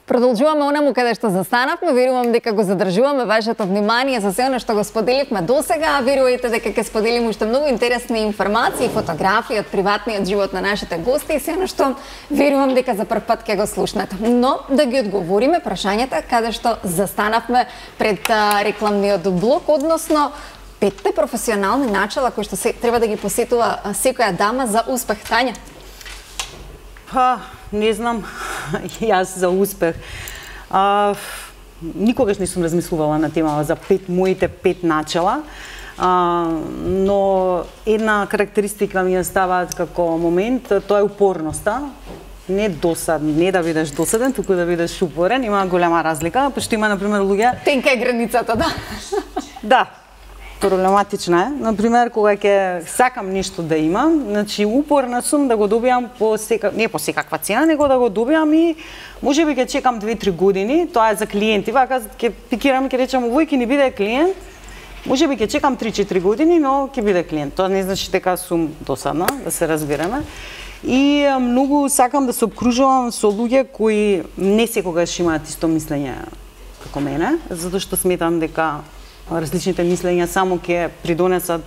Продолжуваме онаму каде што застанавме, верувам дека го задржуваме вашето внимание за се она што го споделивме досега, а верувајте дека ќе споделиме уште многу интересни информации, фотографии од приватниот живот на нашите гости и се она што верувам дека за прв пат ќе го слушнете. Но да ги одговориме прашањата каде што застанавме пред рекламниот блок, односно 5 професионални начала кои што треба да ги посетува секоја дама за успех. Тања? Не знам, јас за успех. Никогаш не сум размислувала на тема за моите 5 начала, но една карактеристика ми ја ставаат како момент, тоа е упорноста. Не да бидеш досаден, туку да бидеш упорен, има голема разлика, пошто има, например, луѓе... Тенка е границата, да. Да. Проблематична е. Например, кога ќе сакам нешто да имам, значи упорна сум да го добиам не по секаква цена, него да го добиам и можеби ќе чекам 2-3 години, тоа е за клиенти, вака ќе пикирам, ќе речам овој ќе ни биде клиент, можеби ќе чекам 3-4 години, но ќе биде клиент. Тоа не значи дека сум досадна, да се разбереме. И многу сакам да се обкружувам со луѓе кои не секогаш имаат исто мислење како мене, затоа што сметам дека различните мислења само ќе придонесат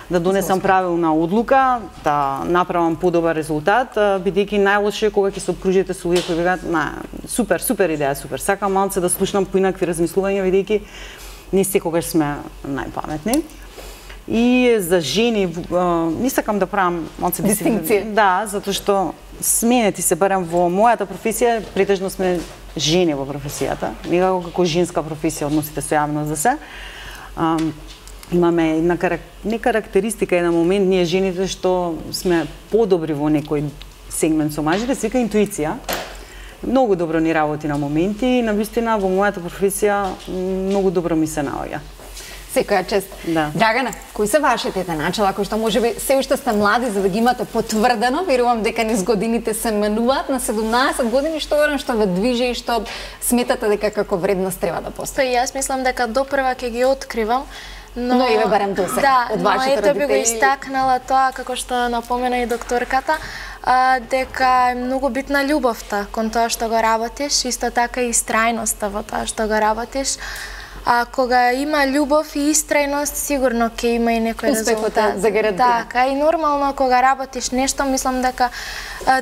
да донесам правилна одлука, да направам подобар резултат, бидејќи најлошо е кога ќе се обкружите со луѓе кои викаат, супер идеја, супер. Сакам малце да слушнам поинакви размислувања, бидејќи не секогаш сме најпаметни. И за жени не сакам да правам малце дистинкција. Да, затоа што сменети се барем во мојата професија, претежно сме жени во професијата, некако како женска професија односите со јавност за се. Имаме една карактеристика, еден момент, ние жените што сме подобри во некој сегмент со мажите, се вика интуиција. Многу добро ни работи на моменти и навистина во мојата професија многу добро ми се наоѓа. Секоја чест. Да. Драгана, кои се вашите начала, кои што можеби се уште сте млади за да ги имате потврдено, верувам дека низ годините се менуваат на 17 години, што ве движи и што сметате дека како вредност треба да постои? Јас мислам дека допрва ќе ги откривам, но и ве барем досега од вашите родители. Да, но ете би го истакнала тоа, како што напомена и докторката, дека е многу битна љубовта кон тоа што го работиш, исто така и истрајноста во тоа што го работиш. А кога има љубов и истрајност, сигурно ќе има и некој резултат. Загарантиран. Така, и нормално кога работиш нешто, мислам дека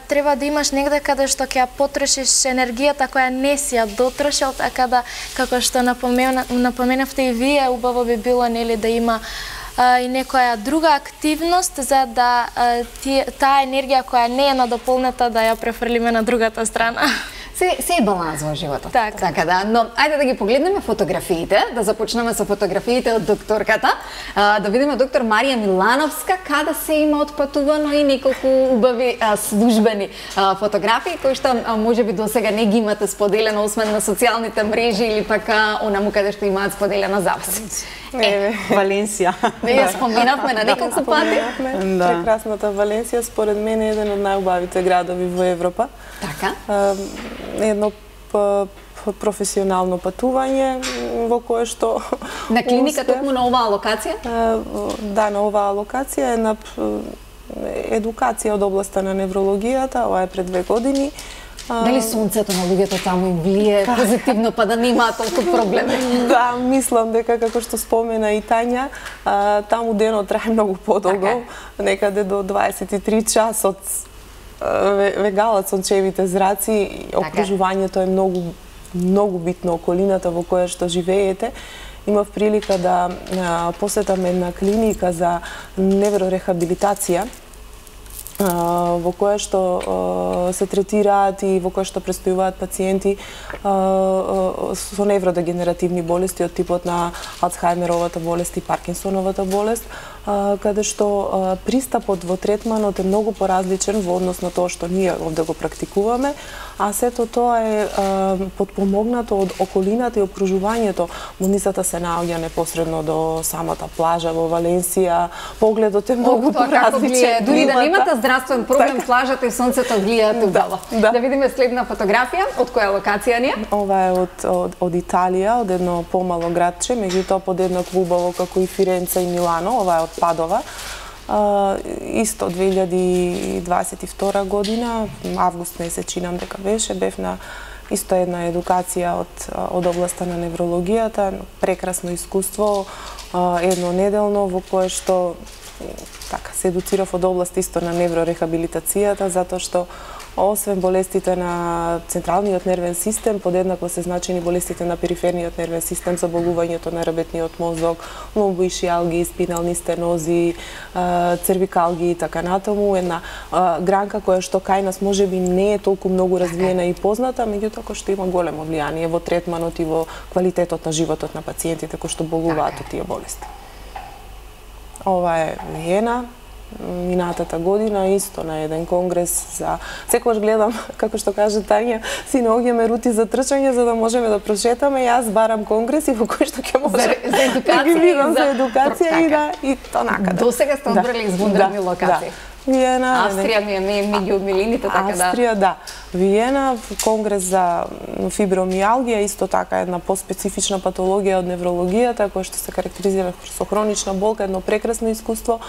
треба да имаш негде каде што ќе ја потрошиш енергијата која не си ја дотрошил, така да, како што напоменавте и вие, убаво би било нели да има и некоја друга активност за да таа енергија која не е надополнета да ја префрлиме на другата страна. Се е баланс во животот. Така да. Но ајде да ги погледнеме фотографиите, да започнеме со фотографиите од докторката, да видиме доктор Марија Милановска каде се има отпатувано и неколку убави службени фотографии кои што можеби досега не ги имате споделено освен на социјалните мрежи или пак онаму каде што имаат споделена запис. Валенсија. Ја споменавме на неколку пати. Прекрасната Валенсија според мене е еден од најубавите градови во Европа. Така. Едно професионално патување во кое што... На клиника токму на оваа локација? Да, на оваа локација е на едукација од областа на неврологијата, ова е пред 2 години. Дали сонцето на луѓето таму им влие позитивно па да немаат толку проблеми? Да, мислам дека како што спомена и Тања, таму денот трае многу подолго, некаде до 23 часот вегалат сончевите зраци, окружувањето е многу битно, околината во која што живеете. Имав прилика да посетам една клиника за неврорехабилитација, во која што се третираат и во која што престојуваат пациенти со невродегенеративни болести од типот на Алцхајмеровата болест и Паркинсоновата болест, каде што пристапот во третманот е многу поразличен во однос на тоа што ние овде го практикуваме, а сето тоа е подпомогнато од околината и окружувањето. Болницата се наоѓа непосредно до самата плажа во Валенсија, погледот е многу поразличен. Дури да немате здравствен проблем, плажата и сонцето влијаат убаво. Да видиме следна фотографија, од која локација ни е? Ова е од Италија, од едно помало градче, меѓутоа подеднакво убаво како и Фиренца и Милано, ова е од Падова. Исто 2022 година, август месец чинам дека беше, бев на Исто една едукација од областа на неврологијата, прекрасно искуство, еднонеделно во кое што така се едуцирав од област исто на неврорехабилитацијата, затоа што освен болестите на централниот нервен систем, подеднакво се значени болестите на периферниот нервен систем, заболувањето на ребетниот мозок, ломбоишијалги, спинални стенози, цервикалги и така натаму, една гранка која што кај нас можеби не е толку многу развиена и позната, меѓутоа кој што има големо влијание во третманот и во квалитетот на животот на пациентите кои што болуваат од тие болести. Ова е Виена, минатата година исто на еден конгрес за секогаш гледам како што каже Тања, си наоѓаме рути за трчање за да можеме да прошетаме. Јас барам конгреси во кои што ќе може за едукација, за едукација и то накаде. До сега сте одбрали извонредни локации. Виена, Австрија ми е меѓу милините, така да. Австрија, да. Виена, конгрес за фибромијалгија, исто така една поспецифична патологија од неврологијата, која што се карактеризира со хронична болка, едно прекрасно искуство,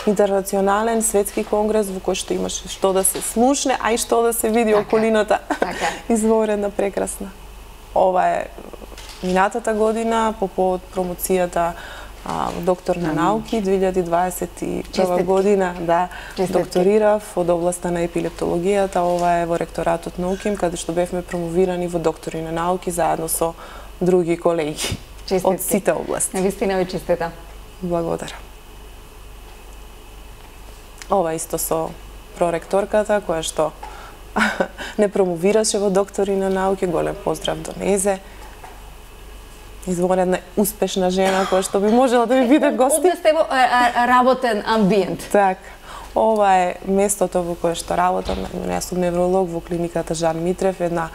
интернационален светски конгрес во кој што имаше што да се слушне, а и што да се види околината. Извонредна, прекрасна. Ова е минатата година по повод промоцијата доктор на науки 2021 година, да, докторирав од областа на епилептологијата. Ова е во ректоратот на УКИМ, каде што бевме промовирани во доктори на науки заедно со други колеги од сите области. Навистина ви честитам. Благодарам. Ова исто со проректорката која што не промовираше во доктори на науки. Голем поздрав до незе. Извонредна успешна жена која што би можела да ви биде гости. Овде сте во работен амбиент. Так. Ова е местото во кое што работам. Јас сум невролог во клиниката Жан Митрев, една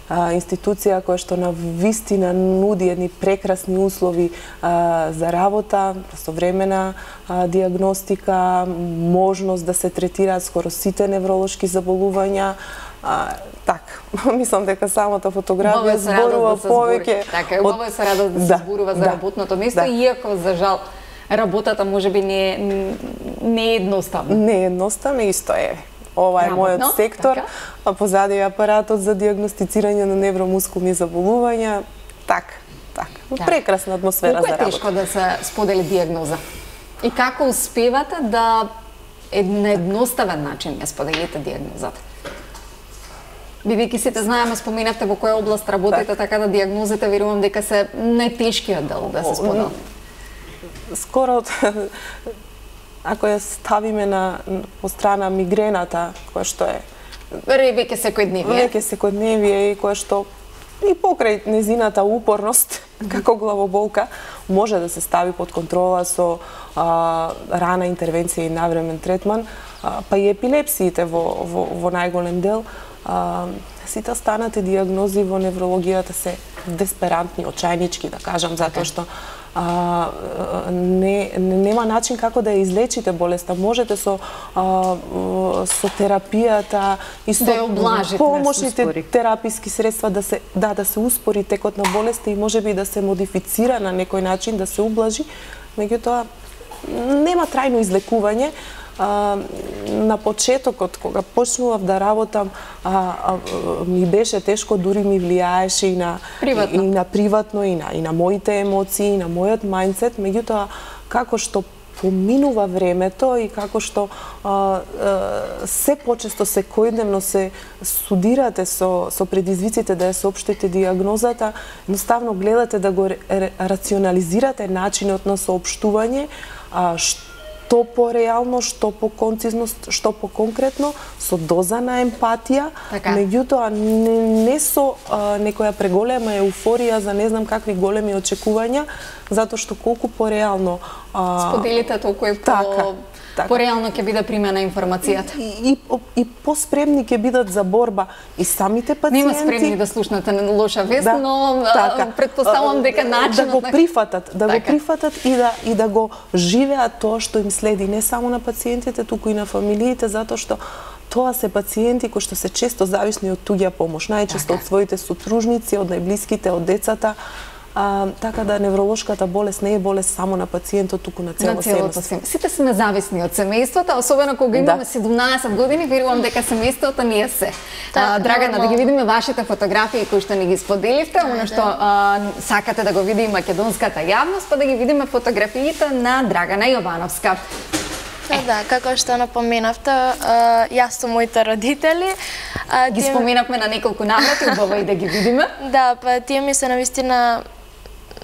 институција која што на вистина нуди едни прекрасни услови за работа, современа диагностика, можност да се третираат скоро сите невролошки заболувања. Так, мислам дека самата фотографија зборува повеќе. Така, убаво е се радост да се зборува за работното место, иако за жал работата можеби не е едноставна. Не е едноставна, исто е. Ова е мојот сектор, а позади е апаратот за диагностицирање на невромускулни заболувања. Так. Прекрасна атмосфера за работа. Колку е тешко да се сподели диагноза? И како успевате да на едноставен начин ја споделите диагнозата? Бидејќи сите знаеме, споменавте во која област работите, така да диагнозите верувам дека се најтешкиот дел да се споделат. Скоро, ако ја ставиме по страна мигрената, која што е веќе секојдневие и која што и покрај незината упорност како главоболка може да се стави под контрола со рана интервенција и навремен третман, па и епилепсиите во најголем дел. Сите останати диагнози во неврологијата се десперантни, очајнички, да кажам, затоа што нема начин како да ја излечите болеста. Можете со терапијата и со помошните тераписки средства да се успори текот на болеста и можеби да се модифицира на некој начин, да се ублажи, меѓутоа нема трајно излекување. На почетокот, кога почнував да работам, ми беше тешко, дури ми влијаеше и на приватно, и на моите емоции, и на мојот мајндсет, меѓутоа како што поминува времето и како што се почесто секојдневно се студирате со предизвиците да ја соопштите диагнозата, едноставно гледате да го рационализирате начинот на соопштување, што по-реално, што по-концизно, што по-конкретно, со доза на емпатија, меѓутоа не со некоја преголема еуфорија за не знам какви големи очекувања, затоа што колку по-реално споделите, толку е по-реално ќе биде примена информацијата. И по-спремни ќе бидат за борба и самите пациенти. Нема спремни да слушнете лоша вест, но претпоставувам дека начинот да го прифатат и да го живеат тоа што им следи, не само на пациентите, туку и на фамилиите, затоа што тоа се пациенти кои што се често зависни од туѓа помош, најчесто од своите супружници, од најблиските, од децата. така да невролошката болест не е болест само на пациентот, туку на целото семејство. Сите сме зависни од семејството, особено кога имаме 17 години, верувам дека семејството не е се. Драгана, да ги видиме вашите фотографии кои што ни ги споделивте, она што сакате да го види македонската јавност, па да ги видиме фотографиите на Драгана Јовановска. Да, како што напоменавте, јас со моите родители. Ги споменавме на неколку наврати, убаво и да ги видиме. Да, па тие ми се навистина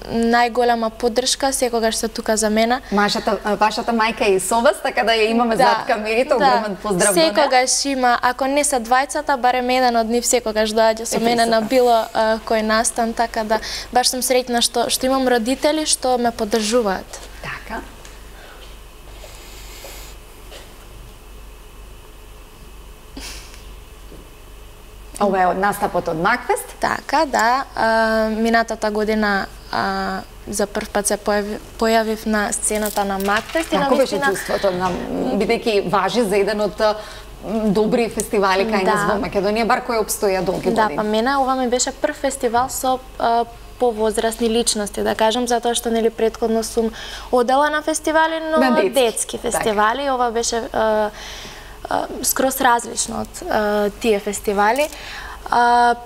најголема поддршка, секогаш се тука за мене. Вашата мајка е и со вас, така да ја имаме зад камерите, огромен поздрав до неа. Секогаш има, ако не се двајцата, барем еден од нив секогаш доаѓа со мене на било кој настан, така да баш сум среќна што имам родители што ме поддржуваат. Така. Ова е од настапот од Макфест? Така, да. Минатата година за прв пат се појавив на сцената на Макфест. Како беше чувството, бидејќи важи за еден од добри фестивали кај нас во Македонија, бар кој обстоја долги години? Да, па мене ова ми беше прв фестивал со повозрасни личности, да кажам, затоа што нели претходно сум одела на фестивали, но детски фестивали. Так. Ова беше скроз различно од тие фестивали.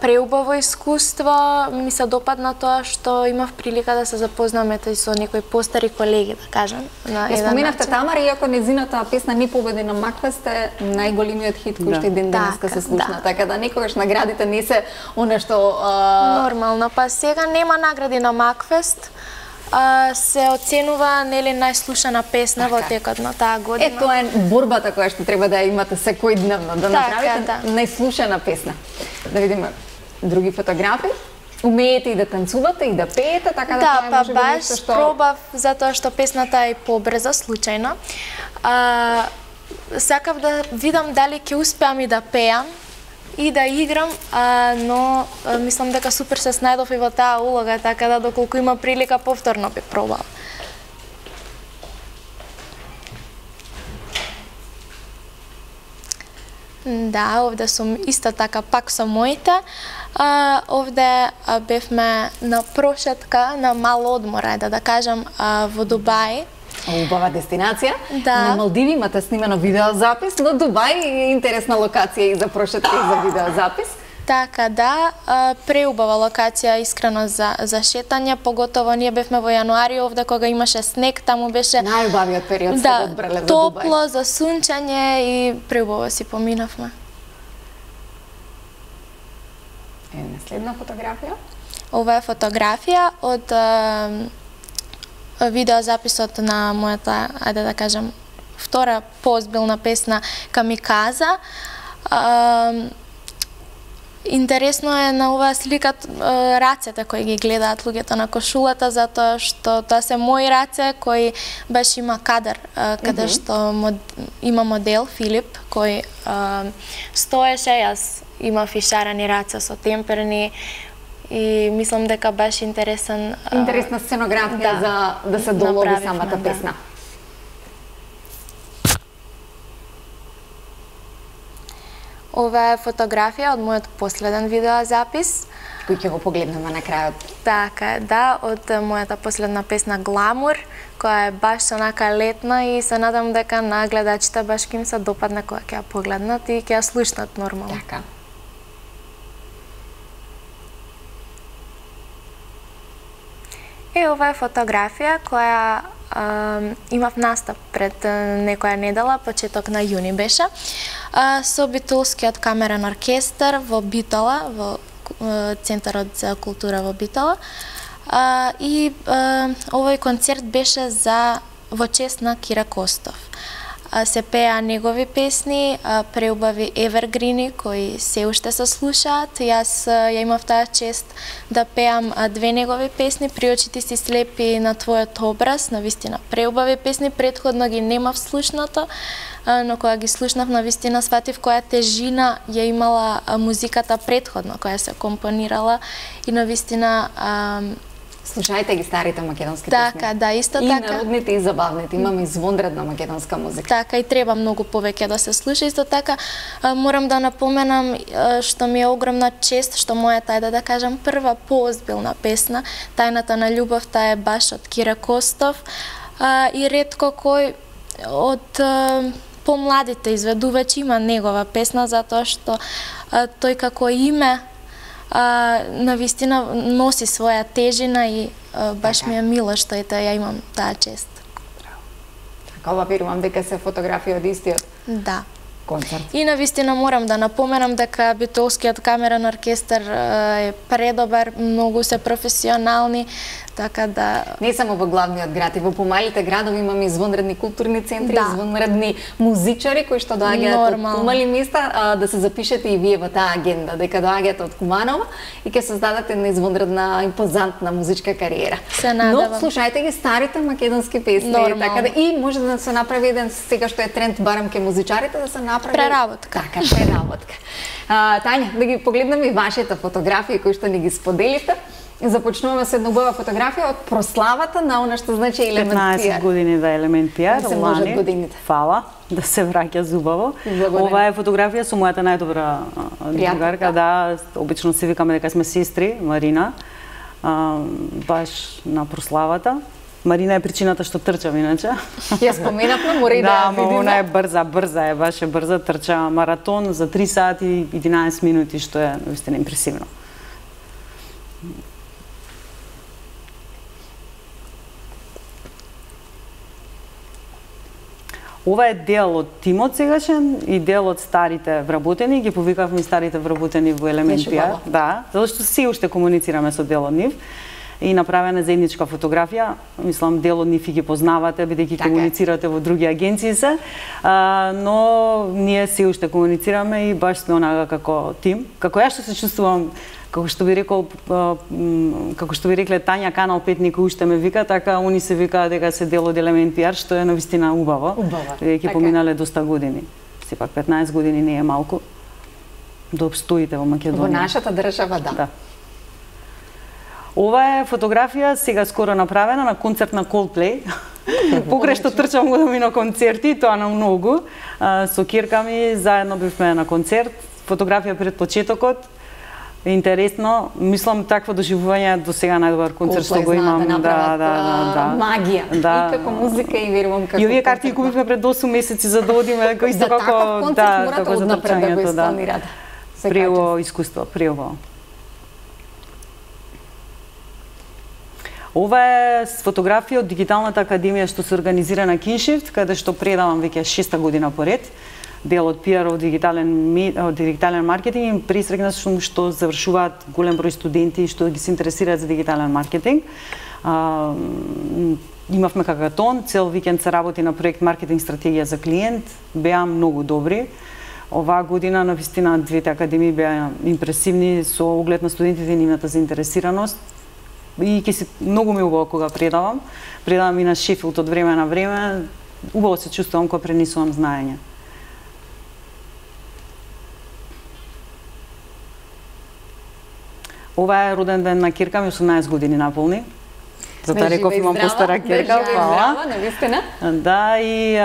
Преубаво искуство, ми се допадна тоа што имав прилика да се запознаме со некои постари колеги, да кажам. Ја споменавте Тамара, иако незината песна не победи на Макфест е најголемиот хит кој што и ден денеска се слушна, така да некогаш наградите не се она што нормално, па сега нема награди на Макфест. Се оценува нели најслушана песна во текот на таа година. Тоа е борбата која што треба да имате секојдневно, да направите најслушана песна. Да видиме други фотографии. Умеете и да танцувате и да пеете, така да тоа може би нешто што... Да, па баш пробав затоа што песната е побрза, случајно. Сакав да видам дали ќе успеам и да пеам и да играм, но мислам дека супер се снајдов и во таа улога, така да доколку има прилика повторно би пробал. Да, овде сум исто така пак со моите. Овде бевме на прошетка, на мал одмор, да кажам, во Дубај. Убава дестинација. Да. На Малдиви имате снимено видеозапис, но Дубај е интересна локација и за прошетка и за видеозапис. Така, да, преубава локација искрено за шетање, поготово ние бевме во јануари овде кога имаше снег, таму беше најубавиот период се одбрале за Дубај. Топло, за сунчање и преубаво си поминавме. Следна фотографија? Ова е фотографија од видеозаписот на мојата, ајде да кажам, втора поозбилна песна Камиказа. Интересно е на оваа слика рацете кои ги гледаат луѓето на кошулата, затоа што тоа се мои раце кои баш има кадар каде што има модел Филип кој стоеше, јас имав и шарани раце со темперни и мислам дека баш интересна сценографија за да се долови самата песна. Ова е фотографија од мојот последен видеозапис. Кој ќе го погледнеме на крајот. Така, да, од мојата последна песна Гламур, која е баш онака летна и се надам дека на гледачите баш ќе им се допадне кога ќе ја погледнат и ќе ја слушнат нормално. Така. Ова е фотографија која имав настап пред некоја недела, почеток на јуни беше, со Битолскиот камерен оркестар во Битола, во Центарот за култура во Битола. И овој концерт беше во чест на Кира Костов. Се пеа негови песни, преубави евергрини кои се уште се слушаат. Јас ја имав таа чест да пеам две негови песни, При очите си слепи на твојот образ, навистина преубави песни, претходно ги немав слушнато, но кога ги слушнав навистина сватив која тежина ја имала музиката претходно која се компонирала и навистина Слушајте ги старите македонски песни. Така, да, исто и така. И народните и забавните. Имаме извонредна македонска музика. Така, и треба многу повеќе да се слуша. Исто така, морам да напоменам што ми е огромна чест, што мојата, да кажам, прва поозбилна песна, Тајната на љубовта, е баш од Кире Костов. И ретко кој од помладите изведувачи има негова песна, затоа што тој како име навистина носи своја тежина и баш ми е мило што ја имам таа чест. Така, ова верувам дека се фотографија од истиот концерт. И навистина морам да напоменам дека Битолскиот камерен оркестар е предобар, многу се професионални, така да... Не само во главниот град, и во помалите градови имаме извонредни културни центри, извонредни музичари кои што доаѓаат од помали места, да се запишете и вие во таа агенда, дека доаѓате од Куманово и ќе создадете една извонредна, импозантна музичка кариера. Се надевам. Но слушајте ги старите македонски песни, така да и може да се направи еден, сега што е тренд барем ке музичарите, да се направи преработка. Така, преработка. Тања, да ги погледнеме и вашите фотографии кои што ни ги споделите. Започнуваме со една убава фотографија од прославата на она што значи Елемент PR. 15 години во Елемент PR, се можат годините. Фала, да се враќа зубаво. Ова е фотографија со мојата најдобра другарка, да, обично се викаме дека сме сестри, Марина, баш на прославата. Марина е причината што трчам, иначе. Ја споменавме, мора и да ја видиме. Да, она е брза е, баш е брза, трча маратон за 3 сати и 11 минути, што е наистина импресивно. Ова е дел од тимот сегашен и дел од старите вработени. Ги повикавме старите вработени во Елемент PR. Да, затоа што се уште комуницираме со дел од нив. И направена заедничка фотографија. Мислам, дел од нив ги познавате, бидејќи комуницирате во други агенции се. Но ние се уште комуницираме и баш сме онака како тим. Како ја што се чувствувам, како што би рекле Тања, Канал 5 никој уште ме вика, така они се викаат дека се дел од Елемент PR, што е навистина убаво. Бидејќи поминале доста години. Сепак 15 години не е малку. Да обстоите во Македонија. Во нашата држава, да. Ова е фотографија сега скоро направена на концерт на Coldplay. Покрај што трчам годами на концерти, тоа на многу. Со кирка ми заедно бивме на концерт. Фотографија пред почетокот. Интересно, мислам такво доживување до сега најдобар концерт што го имам. Да, магија. И како музика и верувам како. И овие карти ги купивме пред 8 месеци за да одиме, како исто како како за трчањето, да. Преубаво искуство, преубаво. Ова е фотографија од Дигиталната академија што се организира на Киншифт, каде што предавам веќе 6-та година поред. Дел од PR од дигитален маркетинг и пресрекна што завршуваат голем број студенти што ги се интересираат за дигитален маркетинг. Имавме хакатон, цел викенд се работи на проект маркетинг стратегија за клиент, беа многу добри. Оваа година навистина двете академии беа импресивни со оглед на студентите и нивната заинтересираност. И ќе се многу ми убаво кога предавам. Предавам и на Шефилд од време на време. Убаво се чувствувам кога пренесувам знаење. Ова е роден ден на кирка ми, 18 години наполни. Затоа реков имам постара кирка. Да, и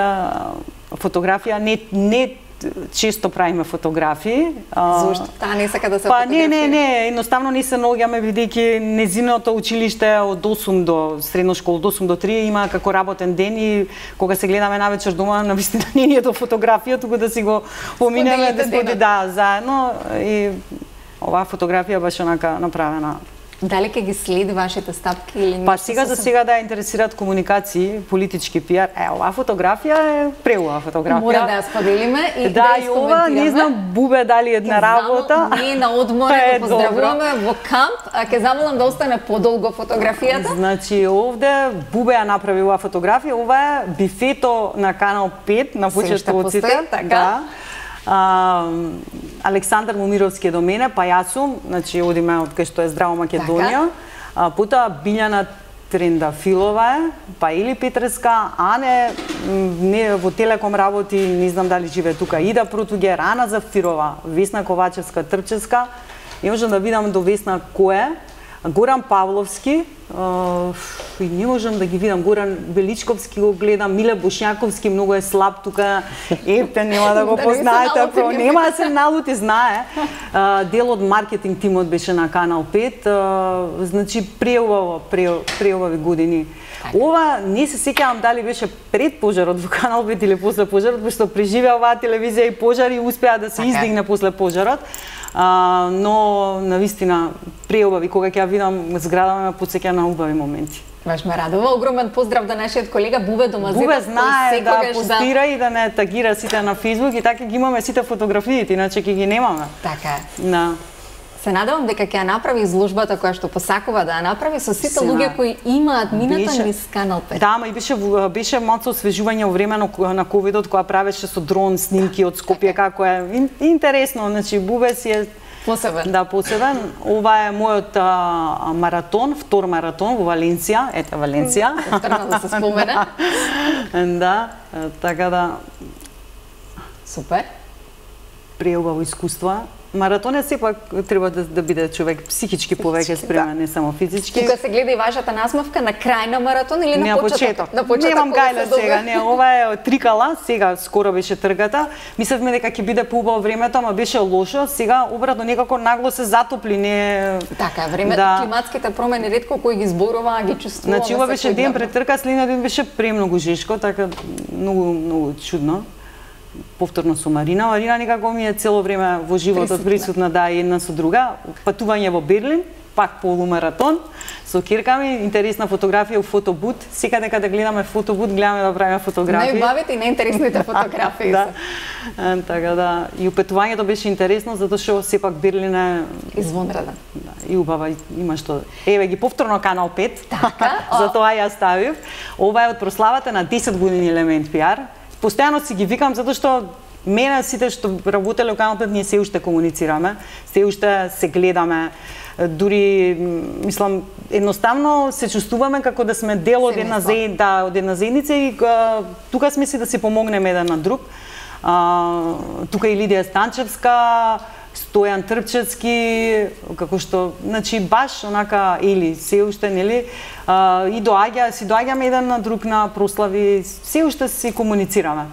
фотографија не често правиме фотографии. Зошто? Таа не сака да се фотографира? Не, едноставно не се наоѓаме бидејќи незиното училиште од 8 до средно школа, од 8 до 3 има како работен ден и кога се гледаме навечер дома, навистина не е до фотографија, туку да си го поминеме да заедно и оваа фотографија баш онака направена. Дали ќе ги следи вашите стапки или Па сега за сега да ја интересираат комуникации, политички пиар. Оваа фотографија е преубава фотографија. Мора да ја споделиме и да ја коментираме. Не знам Бубе дали една работа. Ние на одмора го поздравуваме во камп, а ќе замолам да остане подолго фотографијата. Значи овде Бубе ја направи оваа фотографија. Ова е бифето на Канал 5 на почетоците. Така. Александар Момировски е до мене, па јас сум, значи одиме од кај што е Здраво Македонија. Потоа Билјана Трендафилова е, па Или Петреска, Ане не во Телеком работи, не знам дали живее тука, Ида Протугер, Ана Зафирова, Весна Ковачевска Трчевска. И можам да видам до Весна кој е. Горан Павловски, и не можам да ги видам. Горан Величковски го гледам, Миле Бошњаковски многу е слаб тука. Епте, нема да го познаете, нема да се налути, знае. Дел од маркетинг тимот беше на Канал 5, значи преубави години. Ова не се сеќавам дали беше пред пожарот во Канал 5 или после пожарот, пошто преживеа оваа телевизија и пожар и успеа да се издигне после пожарот. Но навистина преубави, кога ќе ја видам зградава ме потсеќа на убави моменти. Баш ме радува. Огромен поздрав до нашиот колега Бубе Домазетов. Бубе знае да постира и да не тагира сите на Фейсбук и така ги имаме сите фотографиите, иначе ќе ги немаме. Така е. Да. Се надевам дека ќе ја направи изложбата која што посакува да ја направи со сите луѓе кои имаат мината низ Канал 5. Да, ма и беше малку освежување во време на ковидот кога правеше со дрон снимки од Скопје, како е интересно, значи Бубе си е посебен. Да, посебен. Ова е мојот маратон, втор маратон во Валенција, ете Валенција. Повторно да се спомена. Да, така да супер. Преубаво искуство. Маратонот сепак треба да биде човек психички повеќе спремен, не само физички. Тука се гледа и вашата насмавка на крај на маратон или на почеток? На почеток. Немам гајле сега, не, ова е трикала, сега скоро беше тргата. Мислевме дека ќе биде поубаво времето, ама беше лошо. Сега обратно некако нагло се затопли, не. Така, времето, климатските промени ретко кои ги зборува, ги чувствуваме. Значи ова беше ден пред трка, следниот ден беше премногу жешко, така многу чудно. Повторно со Марина. Марина некако ми е цело време во животот присутна, да, една со друга. Патување во Берлин, пак полумаратон, со кирка ми, интересна фотографија у фотобут. Секаде каде гледаме фотобут, гледаме да правиме фотографии. Најубавите и најинтересните фотографии. Да. Така да, и патувањето беше интересно, затоа што сепак Берлин е извонреден. Да, и убава, има што. Еве ги повторно Канал 5. Така. Затоа ја ставив. Ова е од прославата на 10 години Елемент PR. Постојано си ги викам затоа што мене сите што работеле во Канал 5 ние се уште комуницираме, се уште се гледаме, дури мислам едноставно се чувствуваме како да сме дел од една заедница и тука сме си да се помогнеме еден на друг. Тука и Лидија Станчевска, Стојан Трпчевски, како што, значи баш онака или се уште нели и доаѓаме еден на друг на прослави, се уште си комуницираме.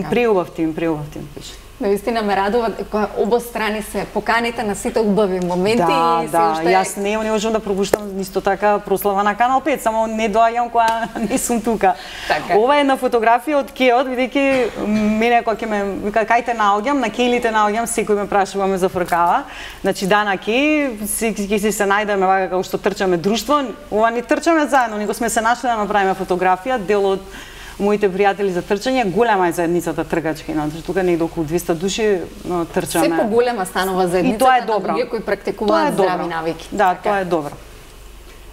Преубав тим пише. Наистина ме радува кога обострани се поканите на сите убави моменти и се уште. Јас не можам да пропуштам исто така прослава на Канал 5, само не доаѓам кога не сум тука. Така. Ова е една фотографија од Кеот, бидејќи мене кога ќе ме вика кај те наоѓам, на Келите наоѓам, секој ме прашува, ме зафркава. Значи да на Ке, ќе се најдеме вака како што трчаме друштво, ова не трчаме заедно, него сме се нашле да направиме фотографија, дел од моите пријатели за трчање, голема е заедницата тркачки, значи тука негде околу 200 души трчаме. Се поголема станува заедницата на луѓе кои практикуваат здрави навики. Да, тоа е добро.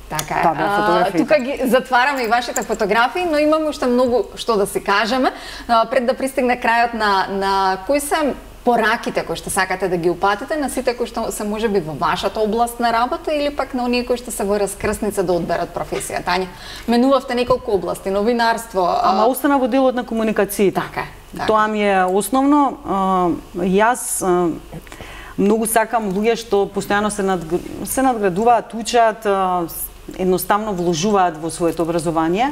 Така е. Тука ги затвараме и вашите фотографии, но имаме уште многу што да си кажеме. Пред да пристигне крајот на кои се пораките кои што сакате да ги упатите на сите кои што се можеби во вашата област на работа или пак на оние кои што се во раскрсница да одберат професија. Тања, менувавте неколку области, новинарство. Ама остана во делот на комуникациите. Така е. Тоа ми е основно. Јас многу сакам луѓе што постојано се надградуваат, учат, едноставно вложуваат во своето образование.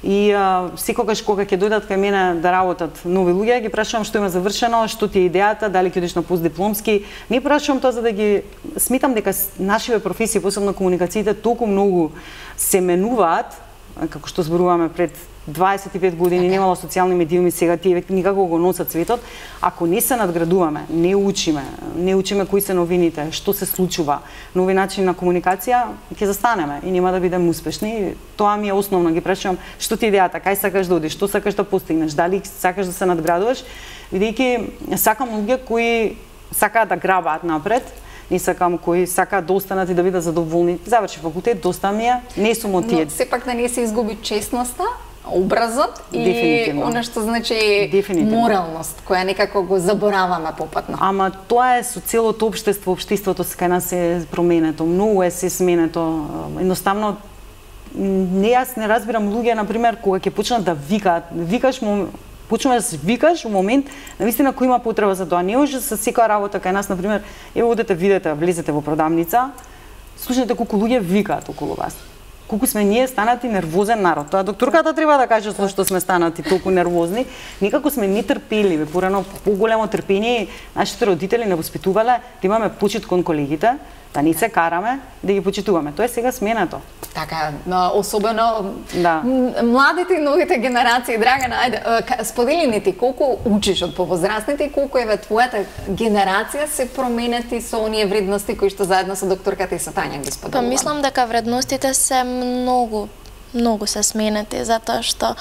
И секогаш кога ќе дојдат кај мене да работат нови луѓе, ги прашувам што има завршено, што ти е идејата, дали ќе одиш на постдипломски. Не прашувам тоа за да ги сметам дека нашите професии, посебно комуникациите, толку многу се менуваат, како што зборуваме пред 25 години немало социјални медиуми, сега тие никако го носат светот. Ако не се надградуваме, не учиме кои се новините, што се случува, нови начини на комуникација, ќе застанеме и нема да бидеме успешни. Тоа ми е основно, ги прашувам што ти е идејата, кај сакаш да одиш, што сакаш да постигнеш, дали сакаш да се надградуваш, бидејќи сакам луѓе кои сакаат да грабаат напред. Не сакам кои сакаат да останат и да бидат задоволни. Заврши факултет, доста ми е, не сум од тие. Но сепак да не се изгуби честноста, образот и она што значи моралност, која некако го забораваме попатно. Ама тоа е со целото општество, општеството кај нас е променето, многу е се сменето. Едноставно јас не разбирам луѓе на пример кога ќе почнат да викаат, почнуваш да се викаш во момент, навистина кој има потреба за тоа. Не може со секоја работа кај нас, на пример, ево одете, видете, влезете во продавница, слушнете колку луѓе викаат околу вас. колку сме ние станати нервозен народ. Тоа докторката треба да каже зошто сме станати толку нервозни. Никако сме ни трпеливи, порано поголемо трпение нашите родители не воспитувале да имаме почит кон колегите, да не се караме, да ги почитуваме. Тоа е сега сменато. Така, особено младите и новите генерации. Драгана, ајде, сподели ни ти колку учиш од повозрастните и колку еве твојата генерација се променети со оние вредности кои што заедно со докторката и со Тања ги споделуваме? Па мислам дека вредностите се многу се сменети, затоа што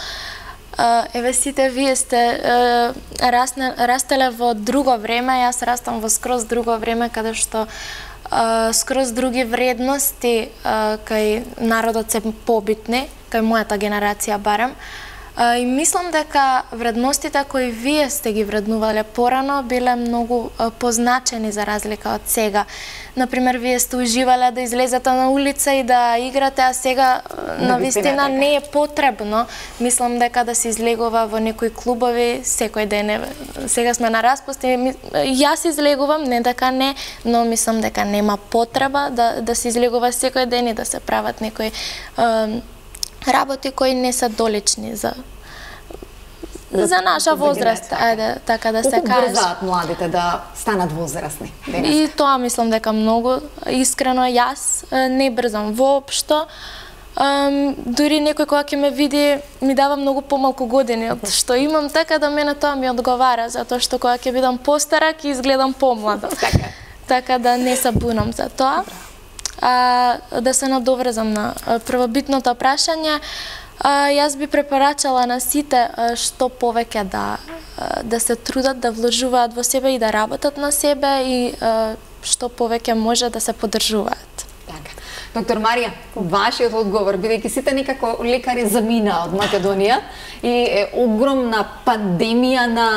еве сите вие сте растеле во друго време, јас растам во скроз друго време каде што скроз други вредности кај народот се побитни, кај мојата генерација барем. И мислам дека вредностите кои вие сте ги вреднувале порано биле многу позначени за разлика од сега. Например, вие сте уживале да излезете на улица и да играте, а сега навистина не е потребно. Мислам дека да се излегува во некои клубови секој ден. Сега сме на распуст и јас излегувам, не дека не, но мислам дека нема потреба да се излегува секој ден и да се прават некои работи кои не се долични за наша возраст, ајде така да се каже. Колку брзаат младите да станат возрастни? И тоа мислам дека многу. Искрено јас не брзам воопшто. Дури некој кога ќе ме види ми дава многу помалку години од што имам, така да мене тоа ми одговара, затоа што кога ќе бидам постара ќе изгледам помлада. Така да не се бунам за тоа. Да се надоврзам на првобитното прашање, јас би препорачала на сите што повеќе да се трудат, да вложуваат во себе и да работат на себе и што повеќе може да се поддржуваат. Така. Доктор Марија, вашиот одговор, бидејќи сите некако лекари замина од Македонија и е огромна пандемија на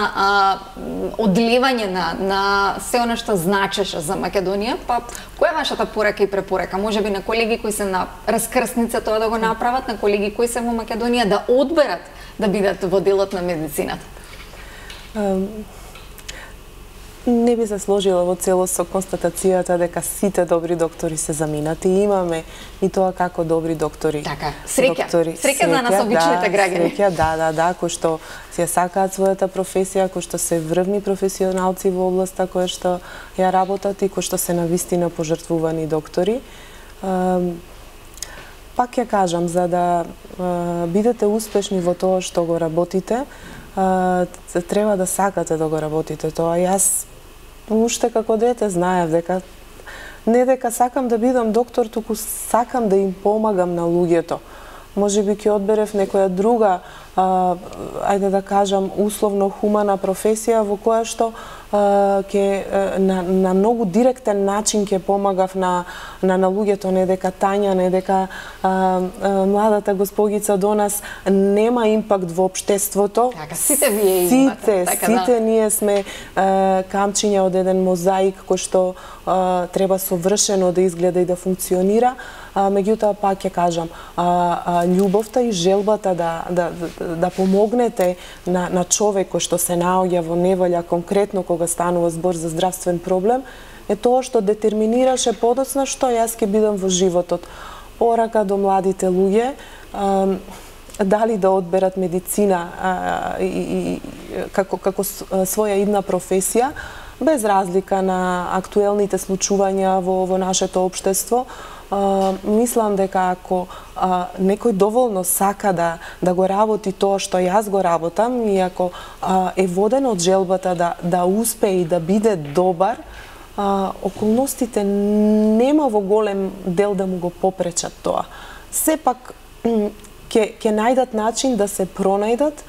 одлевање на се она што значеше за Македонија, па која е вашата порака и препорака? Можеби на колеги кои се на раскрсница тоа да го направат, на колеги кои се во Македонија да одберат да бидат во делот на медицината? Не би се сложила во целост со констатацијата дека сите добри доктори се заминати. Имаме и тоа како добри доктори. Така, среќа за нас обичните граѓани. Среќа, кои што се сакаат својата професија, кои што се врвни професионалци во областа која што ја работат и кои што се навистина пожртвувани доктори. Пак ја кажам, за да бидете успешни во тоа што го работите, треба да сакате да го работите тоа. Јас уште како дете знаев дека не дека сакам да бидам доктор, туку сакам да им помагам на луѓето. Можеби ќе одберев некоја друга, ајде да кажам, условно хумана професија во која што на многу директен начин ќе помагав на луѓето, не дека Тања, не дека младата госпогица до нас нема импакт во општеството. Така, сите вие имате. Сите ние сме камчиња од еден мозаик кој што треба совршено да изгледа и да функционира. Меѓутоа, пак ќе кажам, љубовта и желбата да помогнете на човек кој што се наоѓа во неволја, конкретно кога станува збор за здравствен проблем, е тоа што детерминираше подоцна што јас ќе бидам во животот. Порака до младите луѓе, дали да одберат медицина како своја идна професија, без разлика на актуелните случувања во нашето општество. Мислам дека ако некој доволно сака да го работи тоа што јас го работам и ако е воден од желбата да успее и да биде добар, околностите нема во голем дел да му го попречат тоа. Сепак ќе најдат начин да се пронајдат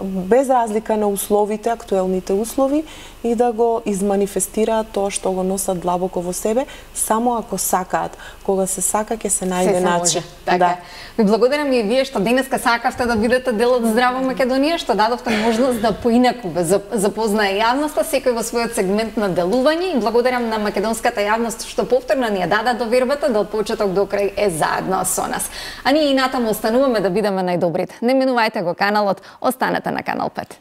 без разлика на условите, актуелните услови, и да го изманифестираат тоа што го носат длабоко во себе, само ако сакаат. Кога се сака, ќе се најде начин. Така. Ви благодарам и вие што денеска сакавте да бидете дел од Здрава Македонија, што дадовте можност да поинаку запознае јавноста, секој во својот сегмент на делување, и благодарам на македонската јавност што повторно ни ја даде довербата да од почеток до крај е заедно со нас. А ние и натаму остануваме да бидеме најдобрите. Не менувајте го каналот, останете на Канал 5.